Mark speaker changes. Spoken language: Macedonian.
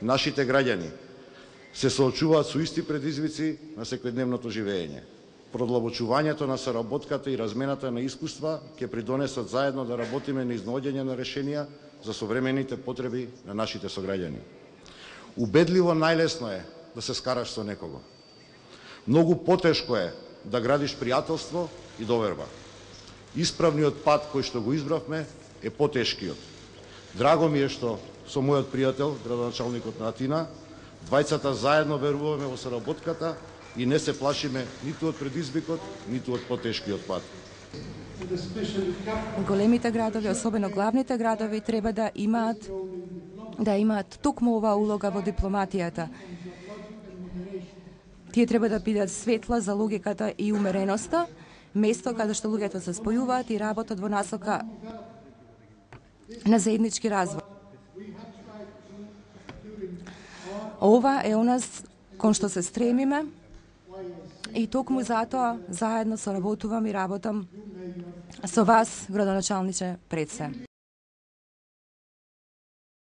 Speaker 1: нашите граѓани се соочуваат со исти предизвици на секојдневното живење. Продлабочувањето на соработката и размената на искуства ќе придонесат заедно да работиме на изнаоѓање на решенија за современите потреби на нашите сограѓани. Убедливо најлесно е да се скараш со некого. Многу потешко е да градиш пријателство и доверба. Исправниот пат кој што го избравме е потешкиот. Драго ми е што со мојот пријател, градоначалникот на Атина, двајцата заедно веруваме во соработката и не се плашиме ниту од предизвикот, ниту од потешкиот пат.
Speaker 2: Големите градови, особено главните градови, треба да имаат токму оваа улога во дипломатијата. Тие треба да бидат светла за логиката и умереноста, место каде што луѓето се спојуваат и работат во насока на заеднички развој. Ова е оназ кон што се стремиме и токму затоа заедно соработувам и работам со вас, градоначалниче, пред се.